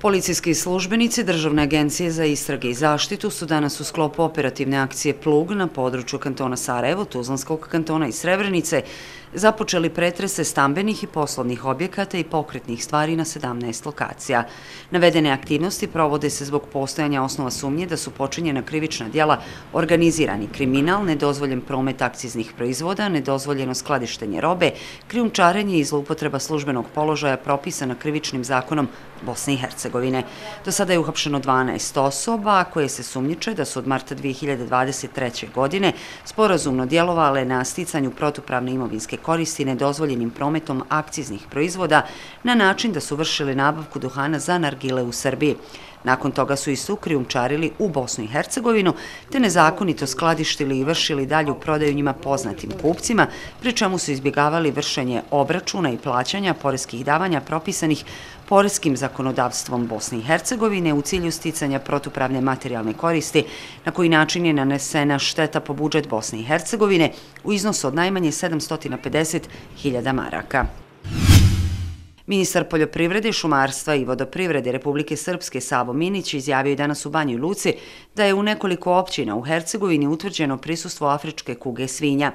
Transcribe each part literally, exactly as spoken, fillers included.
Policijski službenici Državne agencije za istrage i zaštitu su danas u sklopu operativne akcije Plug na području kantona Sarajevo, Tuzlanskog kantona i Srebrenice započeli pretrese stambenih i poslovnih objekata i pokretnih stvari na sedamnaest lokacija. Navedene aktivnosti provode se zbog postojanja osnova sumnje da su počinjena krivična djela organizirani kriminal, nedozvoljen promet akciznih proizvoda, nedozvoljeno skladištenje robe, krijumčarenje i zloupotreba službenog položaja propisana krivičnim zakonom Bosne i Hercegovine. Do sada je uhapšeno dvanaest osoba koje se sumnjiče da su od marta dvije hiljade dvadeset treće. godine sporazumno djelovale na sticanju protupravne imovinske koristi nedozvoljenim prometom akciznih proizvoda na način da su vršili nabavku duhana za nargile u Srbiji. Nakon toga su istu krijumčarili u Bosnu i Hercegovinu, te nezakonito skladištili i vršili dalju prodaju njima poznatim kupcima, pri čemu su izbjegavali vršenje obračuna i plaćanja poreskih davanja propisanih poreskim zakonodavstvom Bosne i Hercegovine u cilju sticanja protupravne materijalne koristi, na koji način je nanesena šteta po budžet Bosne i Hercegovine u iznosu od najmanje sedamsto pedeset hiljada maraka. Ministar poljoprivrede, šumarstva i vodoprivrede Republike Srpske Savo Minić izjavio je danas u Banjoj Luci da je u nekoliko općina u Hercegovini utvrđeno prisustvo afričke kuge svinja.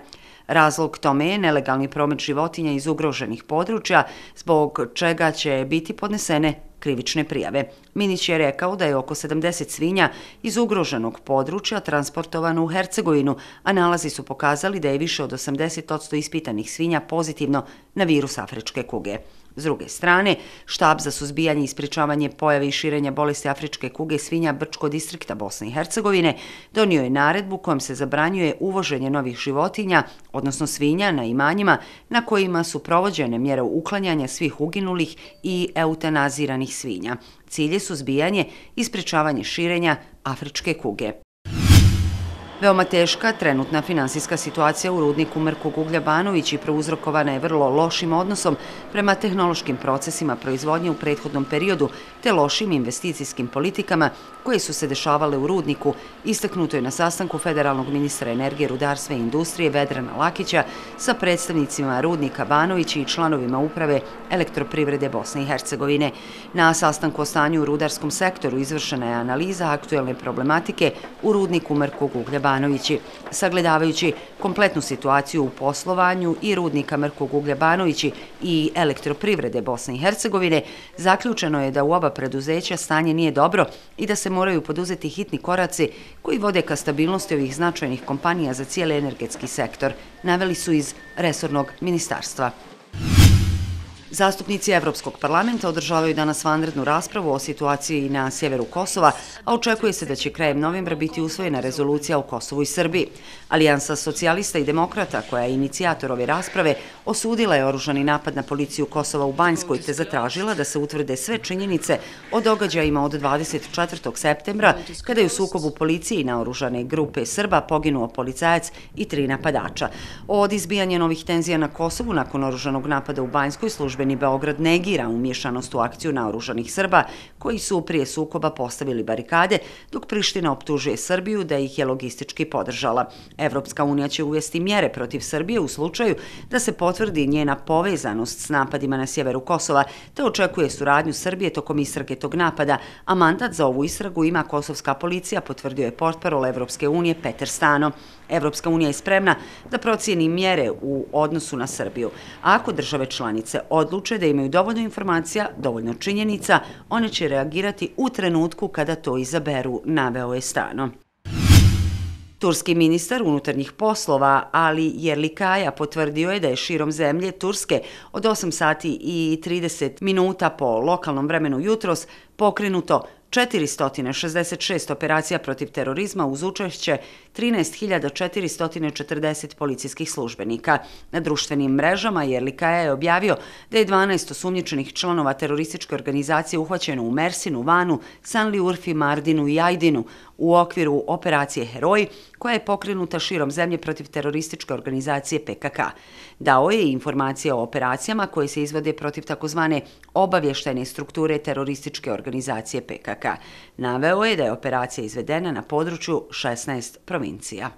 Razlog tome je nelegalni promet životinja iz ugroženih područja, zbog čega će biti podnesene krivične prijave. Minić je rekao da je oko sedamdeset svinja iz ugroženog područja transportovano u Hercegovinu, a nalazi su pokazali da je više od osamdeset posto ispitanih svinja pozitivno na virus afričke kuge. S druge strane, štab za suzbijanje i sprječavanje pojave i širenja bolesti afričke kuge svinja Brčko distrikta Bosne i Hercegovine donio je naredbu kojom se zabranjuje uvoženje novih životinja, odnosno svinja, na imanjima na kojima su provođene mjere uklanjanja svih uginulih i eutanaziranih svinja. Cilj je suzbijanje i sprječavanje širenja afričke kuge. Veoma teška trenutna finansijska situacija u rudniku Mrkog uglja Banović i prouzrokovana je vrlo lošim odnosom prema tehnološkim procesima proizvodnje u prethodnom periodu te lošim investicijskim politikama koje su se dešavale u rudniku, istaknuto je na sastanku federalnog ministra energije, rudarstva i industrije Vedrana Lakića sa predstavnicima rudnika Banović i članovima uprave Elektroprivrede Bosne i Hercegovine. Na sastanku o stanju u rudarskom sektoru izvršena je analiza aktuelne problematike u rudniku Mrkog uglja Banovići. Sagledavajući kompletnu situaciju u poslovanju i rudnika Mrkog uglja Banovići i Elektroprivrede Bosne i Hercegovine, zaključeno je da u oba preduzeća stanje nije dobro i da se moraju poduzeti hitni koraci koji vode ka stabilnosti ovih značajnih kompanija za cijeli energetski sektor, naveli su iz resornog ministarstva. Zastupnici Evropskog parlamenta održavaju danas vanrednu raspravu o situaciji na sjeveru Kosova, a očekuje se da će krajem novembra biti usvojena rezolucija o Kosovu i Srbiji. Alijansa socijalista i demokrata, koja je inicijator ove rasprave, osudila je oružani napad na policiju Kosova u Banjskoj te zatražila da se utvrde sve činjenice o događajima od dvadeset četvrtog septembra, kada je u sukobu policije i naoružane grupe Srba poginuo policajac i tri napadača. Od izbijanja novih tenzija na Kosovu nakon oružanog napada u Banjskoj službe Beograd negira umješanost u akciju naoružanih Srba koji su prije sukoba postavili barikade, dok Priština optužuje Srbiju da ih je logistički podržala. Evropska unija će uvesti mjere protiv Srbije u slučaju da se potvrdi njena povezanost s napadima na sjeveru Kosova, te očekuje suradnju Srbije tokom istrage tog napada, a mandat za ovu istragu ima kosovska policija, potvrdio je portparol Evropske unije Peter Stano. Evropska unija je spremna da procijeni mjere u odnosu na Srbiju. A ako države članice odluče da imaju dovoljno informacija, dovoljno činjenica, one će reagirati u trenutku kada to izaberu, naveo je Stano. Turski ministar unutarnjih poslova Ali Yerlikaya potvrdio je da je širom zemlje Turske od osam sati i trideset minuta po lokalnom vremenu jutros pokrenuto četiristo šezdeset šest operacija protiv terorizma uz učešće trinaest hiljada četiristo četrdeset policijskih službenika. Na društvenim mrežama Yerlikaya je objavio da je dvanaest osumnjičenih članova terorističke organizacije uhvaćeno u Mersinu, Vanu, Sanli Urfi, Mardinu i Ajdinu u okviru operacije Heroji, koja je pokrenuta širom zemlje protiv terorističke organizacije P K K. Dao je i informacije o operacijama koje se izvode protiv takozvane obavještajne strukture terorističke organizacije P K K. Naveo je da je operacija izvedena na području šesnaest provincija.